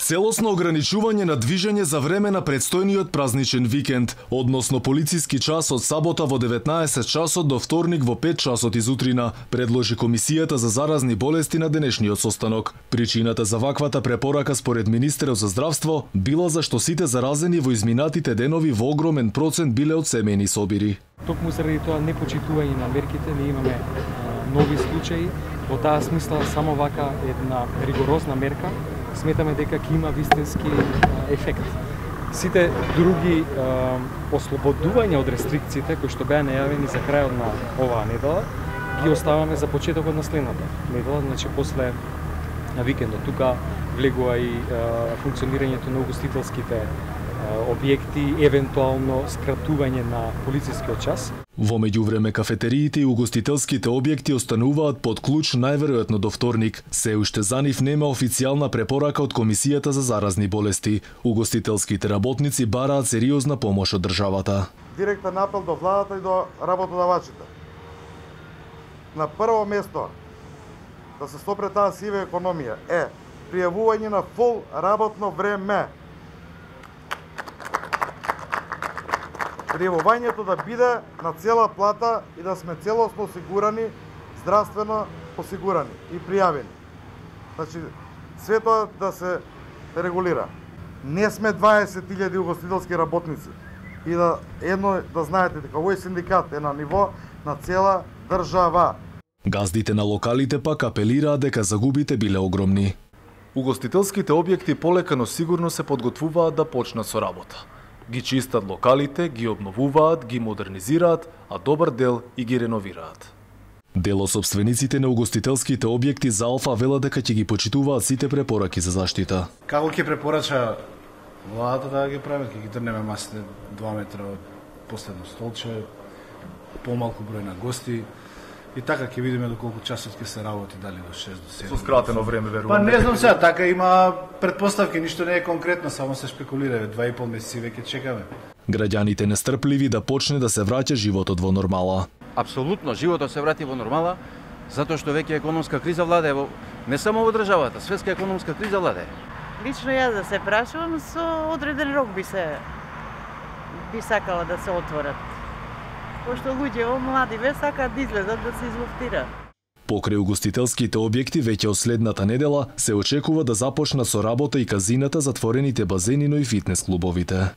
Целосно ограничување на движење за време на предстојниот празничен викенд, односно полициски час од сабота во 19 часот до вторник во 5 часот изутрина, предложи Комисијата за заразни болести на денешниот состанок. Причината за ваквата препорака според Министерот за здравство била зашто сите заразени во изминатите денови во огромен процент биле од семејни собири. Токму заради тоа непочитување на мерките, ние имаме нови случаи. Во таа смисла само вака една ригорозна мерка сметаме дека ќе има вистински ефект. Сите други ослободувања од рестрикциите кои што беа најавени за крајот на оваа недела ги оставаме за почетокот на следната недела, значи после викендот. Тука влегува и функционирањето на угостителските објекти, евентуално скратување на полицискиот час. Во меѓувреме кафетериите и угостителските објекти остануваат под клуч најверојатно до вторник. Се уште за нив нема официјална препорака од Комисијата за заразни болести. Угостителските работници бараат сериозна помош од државата. Директен апел до владата и до работодавачите. На прво место да се стопре таа сива економија е пријавување на фул работно време. Пријавувањето да биде на цела плата и да сме целосно осигурани, здравствено осигурани и пријавени. Значи, све тоа да се регулира. Не сме 20.000 угостителски работници. И да знаете дека овој синдикат е на ниво на цела држава. Газдите на локалите пак апелираат дека загубите биле огромни. Угостителските објекти полека но сигурно се подготвуваат да почнат со работа. Ги чистат локалите, ги обновуваат, ги модернизираат, а добар дел и ги реновираат. Дел од собствениците на угостителските објекти за Алфа велат дека ќе ги почитуваат сите препораки за заштита. Како ќе препорача владата да ги прават, ќе ги трнеме масите 2 метра од последно столче, помалку број на гости. И така ќе видиме доколку часот ќе се работи, дали до 6 до 7. Со скратено време, верувам. Па не знам сега, така има претпоставки, ништо не е конкретно, само се шпекулира, 2,5 месеци веќе чекаме. Граѓаните нестрпливи да почне да се враќа животот во нормала. Апсолутно, животот се врати во нормала, затоа што веќе економска криза владее не само во државата, светска економска криза владее. Лично јас да се прашувам, со одреден рок би сакала да се отворат. Пошто луѓе млади сакаат да излезат да се излуфтира. Покрај угостителските објекти веќе од следната недела се очекува да започнат со работа и казината, затворените базени, но и фитнес клубовите.